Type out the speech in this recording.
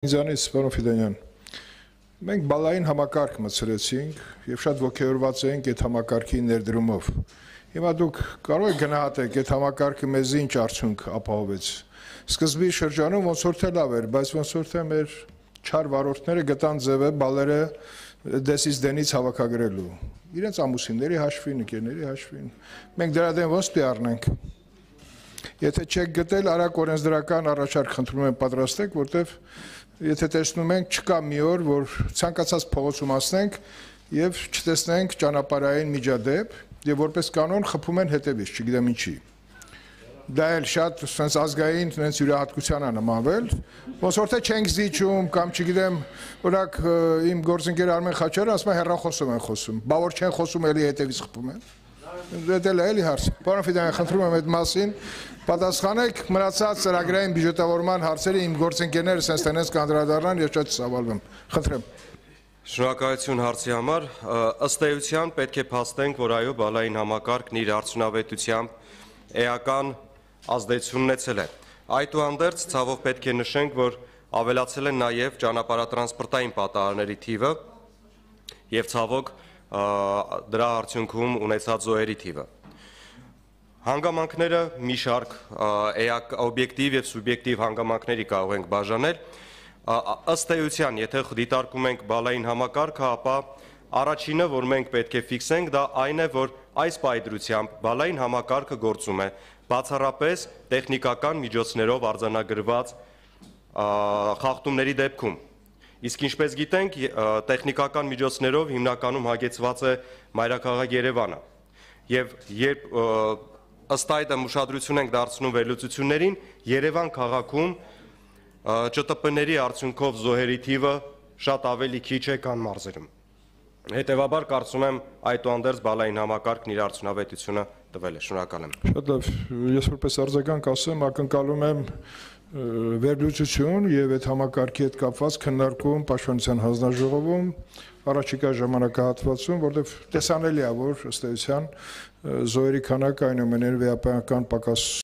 Ինձանից պարոն Ֆիդանյան, մենք բալային համակարգ մտցրեցինք եւ շատ ոգեորված էինք այդ համակարգի ներդրումով։ Հիմա դուք կարող եք գնահատեք այդ համակարգը մեզ ինչ արդյունք ապահովեց։ Սկզբի շրջանում ոնց որ թե լավ էր, բայց ոնց որ թե մեր չար վարորդները գտան ձևը բալերը դեսից դենից հավաքագրելու։ Իրենց ամուսինների հաշվին, ընկերների հաշվին։ Մենք դրա դեմ ոնց պիտի առնենք։ Եթե չեք գտել, արագ օրենսդրական առաջարկ խնդրում եմ պատրաստեք, որտեվ եթե տեսնում ենք չկա մի օր, որ ցանկացած փողոցում ասնենք եւ չտեսնենք ճանապարհային միջադեպ եւ որպես կանոն խփում են հետեւից, չգիտեմ ինչի։ Դա էլ շատ sense ազգային sense յուրահատկության է նմանվել, ոնց որ թե չենք զիջում կամ չգիտեմ, օրինակ իմ գործընկեր Արմեն Խաչարյանը ասում է հեռախոսով են խոսում, բա որ չեն խոսում էլի հետեւից խփում են։ Դա էլի հարց։ Պարոն Ֆիդանյան, խնդրում եմ այդ մասին պատասխանեք մնացած ծրագրային բյուջետավորման հարցերը իմ գործընկերները sense տենես կանդրադառնան, ես շատ ցավալվում եմ։ Խնդրեմ։ Շնորհակալություն հարցի համար։ Ըստ էության պետք է փաստենք, որ այո, բալային համակարգն իր արդյունավետությամբ էական ազդեցություն ունեցել է։ Այդուհանդերձ ցավով պետք է նշենք, որ ավելացել է նաև ճանապարհատրանսպորտային պատահարների թիվը եւ ցավոք դրա արդյունքում ունեցած զոհերի թիվը։ Հանգամանքները մի շարք օբյեկտիվ եւ սուբյեկտիվ հանգամանքների կարող ենք բաժանել։ Ըստ էության, եթե դիտարկում ենք բալային համակարգը, ապա առաջինը, որ մենք պետք է ֆիքսենք, դա այն է, որ այս պայծրությամբ բալային համակարգը գործում է բացառապես տեխնիկական միջոցներով արձանագրված խախտումների դեպքում։ Իսկ ինչպես գիտենք, տեխնիկական միջոցներով հիմնականում հագեցված է մայրաքաղաք Երևանը։ Եվ երբ ըստ այդմ ուշադրություն ենք դարձնում վերլուծություններին, Երևան քաղաքում ՃՏՊ-ների արդյունքով զոհերի թիվը շատ ավելի քիչ է, քան մարզերում։ Հետևաբար կարծում եմ այդուհանդերձ բալային համակարգն իր արդյունավետությունը տվել է։ Շնորհակալ եմ։ Շատ լավ, ես որպես արձագանք ասեմ, ակնկալում եմ վերլուծություն եւ այդ համակարգի հետ կապված քննարկում Պաշտպանության հանձնաժողովում առաջիկա ժամանակահատվածում, որտեղ տեսանելի է, որ ըստ էության զոհերի քանակը այնուամենայնիվ էական պակաս